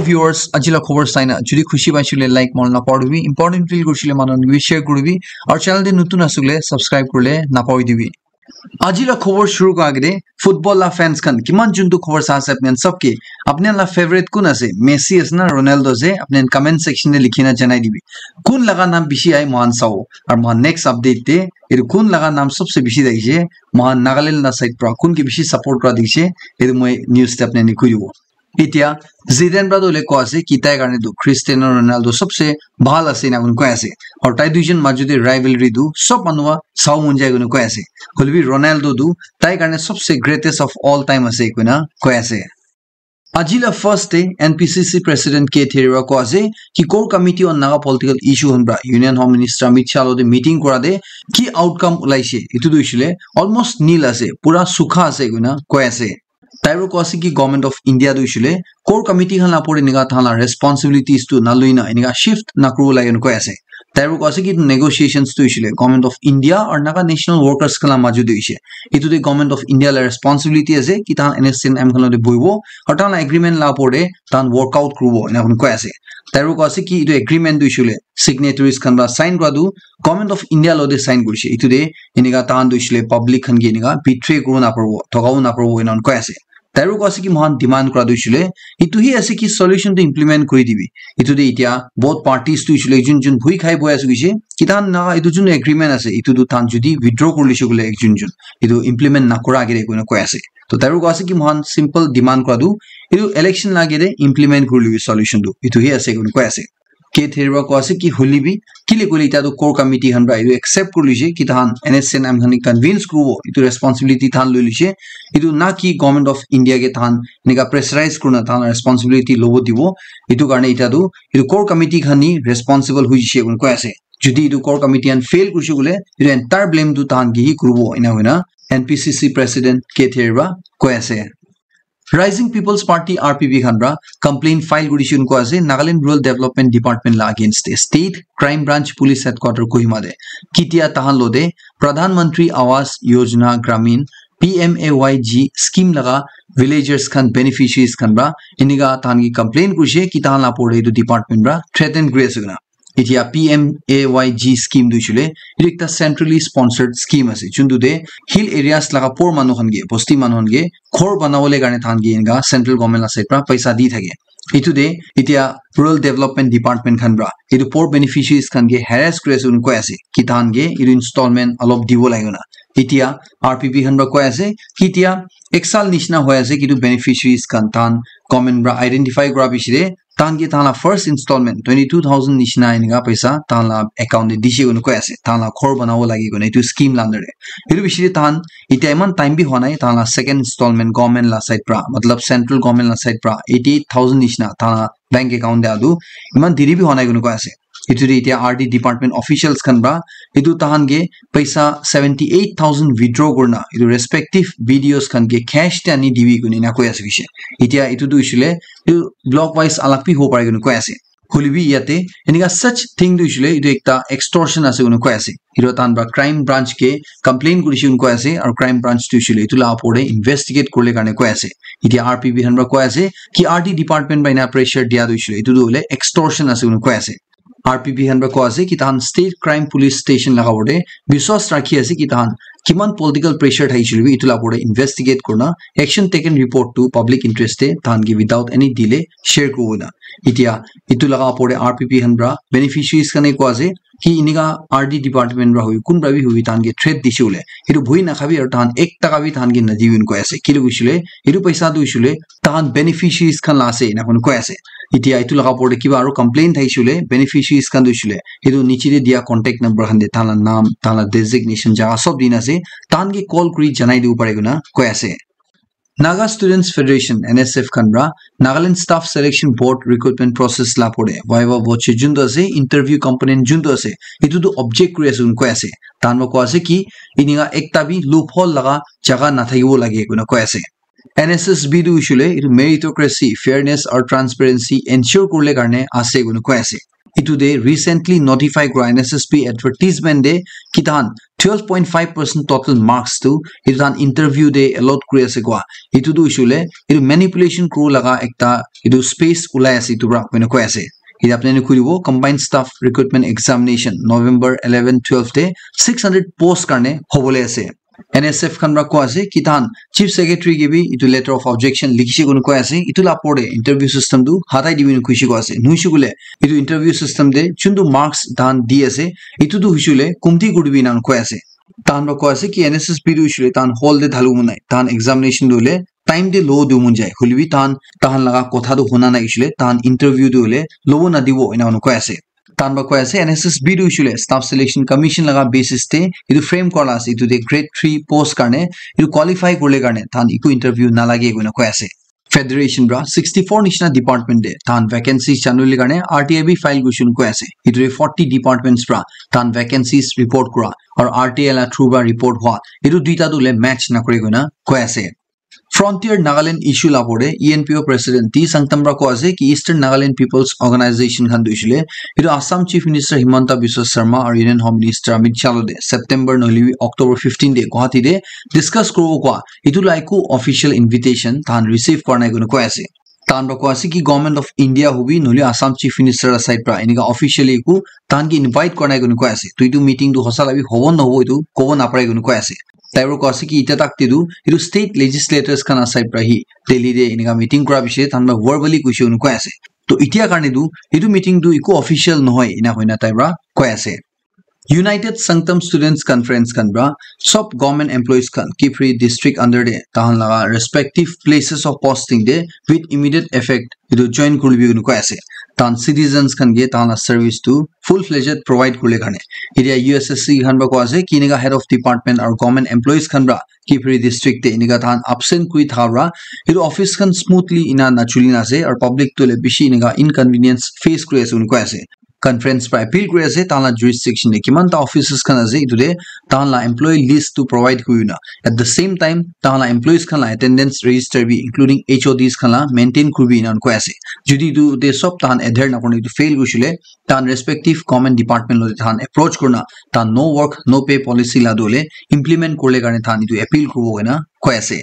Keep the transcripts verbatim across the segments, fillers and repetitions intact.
Viewers, aji la khobor saina jodi khushi paisile like manu napahoribi, important feel kurisile manu khan ke share kuribi, aru channel te notun asile subscribe kurile napahoribi. Aji la khobor shuru kura agete football la fans khan kiman juntu khobor sa ase apni khan sob ke, apni khan la favorite kun ase, Messi ase na Ronaldo ase, apni khan comment section te likhi na janai dibi. Kun laga naam bishi ai mohan sao, aru mohan next update te etu kun laga naam sobse bishi thakise, mohan Nagaland la side pra kun ke bishi support kura dikise, etu moi news te apni khan ke koi dibo. Etia Zidane pra tu hoile koa ase ki tai karne tu Cristiano Ronaldo sobse bhal ase ena koi ase. Aru tai duijon majot te rivalry tu sob manu pra sao mon jai koi ase. Hoile bi Ronaldo tu tai karne sobse greatest of all time ase koina koi ase. Aji la first te N P C C President K Theriwa koa ase ki core committee on Naga political issue khan pra Union Home Minister Amit Shah lo te meeting kura te ki outcome ulaise, etu tu hoisile almost nil ase, pura sukha ase koina koi ase. Tai pra koa ase ki Government of India tu hoisile core committee khan la opor te enika tahan la responsibilities tu naloi na enika shift nakuribo lage koi ase. Tai pra koa ase ki negotiations tu hoisile Government of India aru Naga National Workers khan la majot te hoise. Etu te Government of India la responsibility ase ki tahan N S C N M khan lote bohibo aru tahan la agreement la opor te tahan work out kuribo ena koi ase. Tai pra koa ase ki etu agreement tu hoisile signatories khan pra sign kura tu Government of India lo te sign kurise. Etu te enika tahan tu hoisile public khan ke enika betray kuribo naparibo, thokabo naparibo ena koi ase. Tai pra koa ase ki mohan demand kura tu hoisile etu hi ase ki solution tu implement kuri dibi. Etu te etia both parties tu hoisile jun jun bhui khai boi ase koise ki tahan na etu jun agreement ase etu tu tahan jodi withdraw kuri lise koile ekjun jun etu implement nakura agete koina koi ase. To tai pra koa ase ki mohan simple demand kura tu etu election la agete implement kuri libi solution tu etu hi ase koina koi ase. K Theriwa koa ase ki hoile bi kile koile etia tu core committee khan pra etu accept kuri lise ki tahan N S C N M khan ke convince kuribo etu responsibility tahan loi lise. Etu na ki Government of India ke tahan enika pressurize kurina tahan responsibility lobo dibo. Etu karne etia tu etu core committee khan ni responsible hoi jise koina koi ase. Jodi etu core committee khan fail kurise koile etu entire blame tu tahan ke hi kuribo ena hoina N P C C President K Theriwa koi ase. Rising People's Party R P P khan pra complaint file kurise koina koi ase Nagaland Rural Development Department la against te State Crime Branch Police Headquarter Kohima te. Ketia tahan lo te Pradhan Mantri Awas Yojana Gramin P M A Y G scheme laga villagers khan beneficiaries khan pra enika tahan ke complaint kurise ki tahan la opor te etu department pra threaten kuri ase koina. Etia P M A Y G scheme tu hoishe koile, etu ekta centrally sponsored scheme ase, juntu te hill areas laga poor manu khan ke, bosti manu khan ke ghor banabole karne tahan ke eneka central government la side pra paisa di thake. Etu te etia Rural Development Department khan pra etu poor beneficiaries khan ke harass kuri ase koina koi ase, ki tahan ke etu installment alop dibo lage koina. Etia R P P khan pra koi ase ki etia ek saal nishina hoi ase ki etu beneficiaries khan tahan government pra identify kura piche te tahan ke tahan la first installment twenty two thousand nishina enika paisa tahan la account te dishe koina koi ase, tahan la ghor banabo lage koina etu scheme la under te. Etu piche te tahan etia eman time bi hua nai, tahan la second installment government la side pra, matlab central government la side pra eighty eight thousand nishina tahan la bank account te adu eman deri bi hua nai koina koi ase. Etu te etia R D department officials khan pra etu tahan ke paisa seventy eight thousand withdraw kurina etu respective B D Os khan ke cash te ani dibi koina ena koi ase koishe. Etia etu tu hoishe koile etu block wise alag bi hobo pare koina koi ase. Hoile bi yate enika such thing tu hoishe koile etu ekta extortion ase koina koi ase. Etu tahan pra crime branch ke complain kurishe koina koi ase, aru crime branch tu hoishe koile etu la opor te investigate kuribole karne koi ase. Etia R P P khan pra koi ase ki R D department pra ena pressure dia tu hoishe koile etu tu hoile extortion ase koina koi ase. R P P khan pra koi ase ki tahan State Crime Police Station laga opor te biswas rakhi ase ki tahan kiman political pressure thakishe koile bi etu la opor te investigate kurina action taken report tu public interest te tahan ke without any delay share kuribo koina. Etia etu laga opor te R P P khan pra beneficiaries khan ke koi ase ki enika R D department pra hobi, kun pra bi hobi, tahan ke threat dishe koile etu bhui nakhabi aru tahan ek taka bi tahan ke nadibi koina koi ase. Kile hoishe koile etu paisa tu hoishe koile tahan beneficiaries khan la ase ena koina koi ase. Etia etu laga opor te kiba aru complain thakishe koile beneficiaries khan tu hoishe koile etu niche te dia contact number khan te tahan la naam, tahan la designation, jaga sob dina ase, tahan ke call kuri janai dibo pare koina koi ase. Naga Students Federation, N S F khan pra Nagaland Staff Selection Board recruitment process la opor te viva voce juntu ase, interview component juntu ase, etu tu object kuri ase koina koi ase. Tahan pra koi ase ki enika ekta bi loophole laga jaga nathakibo lage koina koi ase. N S S B tu hoishe koile etu meritocracy, fairness aru transparency ensure kuribole karne ase koina koi ase. Etu te recently notify kura N S S B advertisement te ki tahan twelve point five percent total marks tu etu tahan interview te allot kuri ase koa. Etu tu hoishe koile etu manipulation kuru laga ekta etu space ulai ase etu para koina koi ase. Etu apni khan koi dibo combined staff recruitment examination November eleven twelve te six hundred post karne hobole ase. N S F khan para koa ase ki tahan chief secretary ke bi etu letter of objection likhishe koina koi ase. Etu la opor te interview system tu hatai dibi koina koishe koa ase. Nohoishe koile etu interview system te chuntu marks tahan di ase, etu tu hoishe koile kumti kuri dibi ena koi ase. Tahan para koi ase ki N S S B tu hoishe koile tahan hall te dhalu mon nai. Tahan examination tu hoile time te lobo dibo mon jai. Hoile bi tahan, tahan laga kotha tu huna nai hoishe koile tahan interview tu hoile lobo nadibo ena koi ase. Tahan para koi ase N S S B tu hoishe koile Staff Selection Commission laga basis te etu frame kora la ase. Etu te grade three post karne etu qualify kurle karne tahan eku interview nalage koina koi ase. Federation para sixty four nishina department te tahan vacancies janule karne R T I bi file kurishe koina koi ase. Etu te forty departments para tahan vacancies report kura aru R T I la through para report hua etu duita tu hoile match nakore koina koi ase. Frontier Nagaland issue la opor te E N P O President T Sangtam para koi ase ki Eastern Nagaland People's Organization khan tu hoishe koile etu Assam Chief Minister Himanta Biswa Sarma aru Union Home Minister Amit Shah lo te September nohoile bi October fifteen te Guwahati te discuss kuribo koa etu la eku official invitation tahan receive kora nai koina koi ase. Tahan para koi ase ki Government of India hobi nohoile Assam Chief Minister la side para enika officially eku tahan ke invite kora nai koina koi ase. To etu meeting tu hosa la bi hobo nahobo etu kobo napare koina koi ase. Tai para koi ase ki itya tak te tu etu state legislators khan la side para hi Delhi te enika meeting kora piche tahan para verbally koishe koina koi ase. To itya karne tu etu meeting tu eku official nohoi ena koina tai para koi ase. United Sangtam Students Conference khan para sob government employees khan Kiphire district under te tahan laga respective places of posting te with immediate effect etu join kuribi koina koi ase. Tahan citizens khan ke tahan la service tu full fledged provide kurle karne. Etia U S S C khan para koi ase ki enika head of department aru government employees khan para Kiphire district te enika tahan absent kuri thaka para etu office khan smoothly ena nachuli na ase aru public tu hoile bishi enika inconvenience face kuri ase koina koi ase. Conference para appeal kuri ase tahan la jurisdiction te kiman ta offices khan ase etu te tahan la employee list tu provide kuri na at the same time tahan la employees khan la attendance register bi including H O Ds khan la maintain kuribi ena koi ase. Jodi etu te sob tahan adhere nakore etu fail kurishe koile tahan respective government department lo tahan approach kurina tahan no work no pay policy la tu hoile implement kurle karne tahan etu appeal kuribo koina koi ase.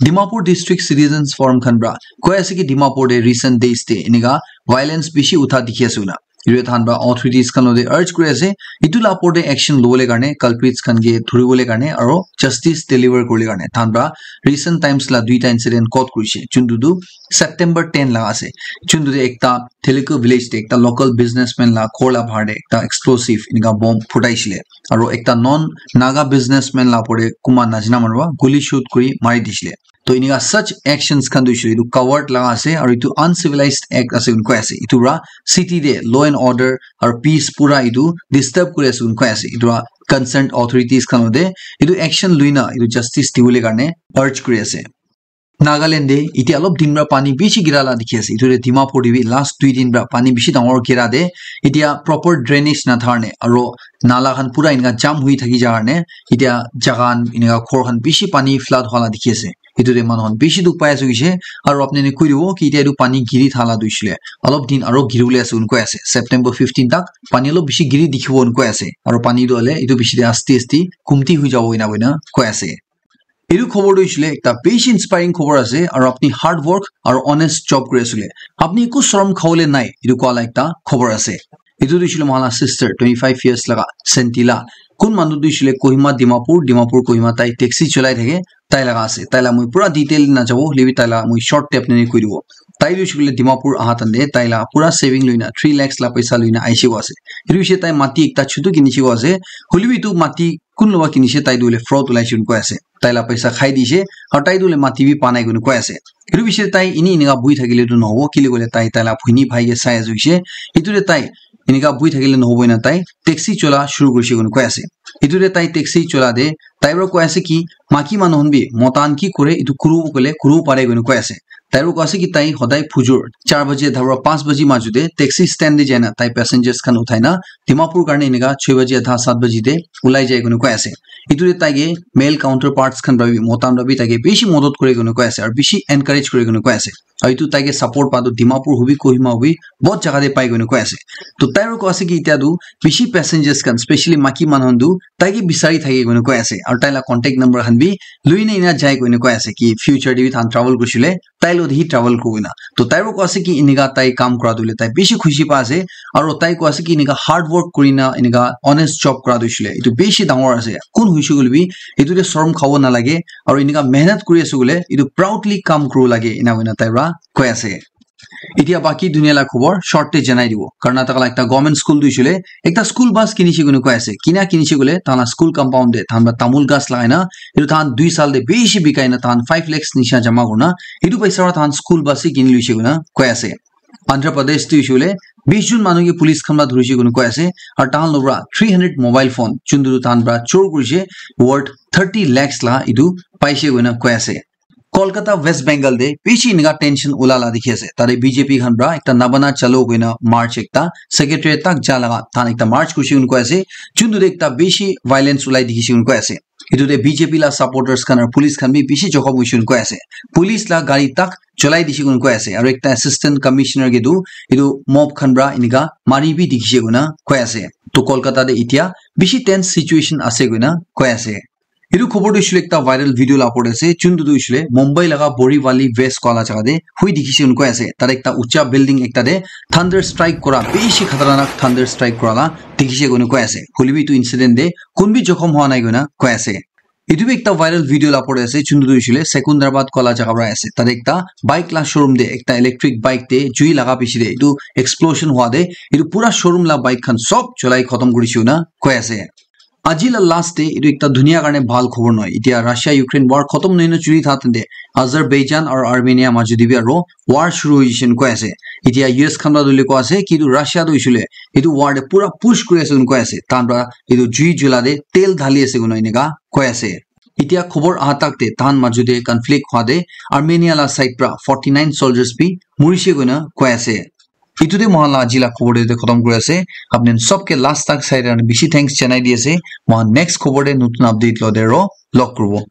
Dimapur District Citizens Forum khan para koi ase ki Dimapur te recent days te enika violence bishi utha dikhi ase koina. Etu tahan para authorities khan lote urge kuri ase etu la opor te action lobole karne culprits khan ke dhuribole karne aru justice deliver kuribole karne. Tahan para recent times la duita incident quote kurishe juntu tu September ten la ase. Juntu te ekta Telugu village te ekta local businessman la ghor la bahar te ekta explosive enika bomb phutaishile. Aru ekta non Naga businessman la opor te kunba najana manu para guli shoot kuri mari dishile. To enika such actions khan tu hoishe etu coward laga ase aru etu uncivilized act ase koina koi ase. Etu para city te law and order aru peace pura etu disturb kuri ase koina koi ase. Etu para concerned authorities khan lote etu action luina etu justice dibole karne urge kuri ase. Nagaland te etia olop din para pani bishi gira la dikhi ase. Etu te Dimapur te bi last dui din para pani bishi dangor gira te etia proper drainage na thakar ne aru nala khan pura enika jam hui thaki ja karne etia jaga khan enika ghor khan bishi pani flood hua la dikhi ase. Etu te manu khan bishi dukh pai ase hoishe aru apni khan koi dibo ki etia etu pani giri thala tu hoishe le olop din aru giri bole ase koina koi ase. September fifteen tak pani olop bishi giri dikhibo koina koi ase aru pani tu hoile etu bishi te asti asti kumti hui jabo ena koina koi ase. Etu khobor tu hoishe le ekta bishi inspiring khobor ase aru apni hard work aru honest job kuri ase le apni eku sorom khawole nai etu koa la ekta khobor ase. Etu tu hoishe le moikhan la sister twenty five years laga Sentila kun manu tu hoishe le Kohima Dimapur, Dimapur Kohima tai taxi cholai thake tai laga ase. Tai la moi pura detail na jabo hoile bi tai la moi short te apni khan koi dibo. Tai tu hoishe le Dimapur aha time te tai la pura saving loina three lakhs la paisa loina aishe koa ase. Etu hoishe tai mati ekta chutu kinishe koa ase. Hoile bi etu mati kun loba kinishe tai tu hoile fraud ulai shuru koi ase. Tai la paisa khai dishe aru tai tu hoile mati bi pa nai koina koi ase. Etu bishi tai ini enika bui thakile tu nohobo kile koile tai tai la bhoni bhai ke sai ase hoishe. Etu te tai enika bui thakile nohobo ena tai taxi chola shuru kurishe koina koi ase. Etu te tai taxi chola te tai para koi ase ki maki manu khan bi mota khan ki kure etu kuru koile kuru pare koina koi ase. Tai para koi ase ki tai hodai phujur char baji adha para panch baji majo te taxi stand te jaina tai passengers khan uthai na Dimapur karne enika choi baji adha sat baji te ulai jai koina koi ase. Etu te tai ke male counterparts khan para bi mota khan para bi tai ke bishi modot kure koina koi ase aru bishi encourage kure koina koi ase. Aru etu tai ke support pa tu Dimapur hobi, Kohima hobi, bahut jaga te pai koina koi ase. To tai ro koi ase ki itya tu bishi passengers khan, specially maki manu khan tu tai ke bisari thake koina koi ase. Aru tai la contact number khan bi lui na ina jai koina koi ase ki future te bi than travel kurisile tai lo hi travel kurina. To tai ro koi ase ki inika tai kam kura tu le tai bishi khushi pa ase. Aru tai koi ase ki inika hard work kurina inika honest job kura tu shile itu bishi dangor ase. Kun huishe koile bi itu te sorom khabo nalage. Aru inika mehnat kuri ase koile itu proudly kam kuru lage ina koina tai ra koi ase. Itya baki dunia la khobor short te janai dibo. Karnataka la ekta government school tu hoishile, ekta school bus kinishe koina koi ase. Kina kinishe koile, tahan la school compound te, tahan pra tamul gas lagai na, etu tahan dui sal te bishi bikai na, tahan five lakhs nisha jama kurna, etu paisa pra tahan school bus he kini luishe koina koi ase. Andhra Pradesh tu hoishile, bish jon manu ke police khan pra dhurishe koina koi ase, aru tahan logra three hundred mobile phone, chundu tahan pra chor kurishe, worth thirty lakhs la etu paishe koina koi ase. Kolkata, West Bengal te bishi enika tension ula la dikhi ase. Tate B J P khan pra ekta Nabana Chalo koina march ekta secretary tak ja laga tahan ekta march kurishe koina koi ase. Chuntu te ekta bishi violence ulai dikhishe koina koi ase. Etu te B J P la supporters khan aru police khan bi bishi jokhom hoishe koina koi ase. Police la gari tak cholai dishe koina koi ase. Aru ekta assistant commissioner ke tu etu mob khan pra enika mari bi dikhishe koina koi ase. To Kolkata te itya bishi tense situation ase koina koi ase. Etu khobor tu hoishile ekta viral video la opor te ase, chuntu tu hoishile Mumbai laga Borivali West koa la jaga te hui dikhishe koina koi ase. Tate ekta ucha building ekta te thunder strike kura, bishi khatarnak thunder strike kura la dikhishe koina koi ase. Hoilebi etu incident te kun bi jokhom hua nai koina koi ase. Etu bi ekta viral video la opor te ase, chuntu tu hoishile Secunderabad koa la jaga pra ase. Tate ekta bike la showroom te ekta electric bike te jui laga piche te etu explosion hua te etu pura showroom la bike khan sob cholai khotom kurishe koina koi ase. Aji la last te etu ekta dunia karne bhal khobor nohoi. Itya Russia Ukraine war khotom nohoi na chuli tha tente Azerbaijan aru Armenia majot te bi aru war shuru hoi jishe koina koi ase. Itya U S khan pra tu koi ase ki etu Russia tu hoishile etu war te pura push kuri ase koina koi ase. Tahan pra etu jui jula te tel dhali ase koina enika koi ase. Itya khobor aha tak te tahan majot te conflict hua te Armenia la side pra forty nine soldiers bi murishe koina koi ase. Etu te moikhan la aji la khobor te khotom kuri ase. Apni khan sob ke last tak sai karne bishi thanks janai di ase. Moikhan next khobor te notun update lo te ro log kuribo.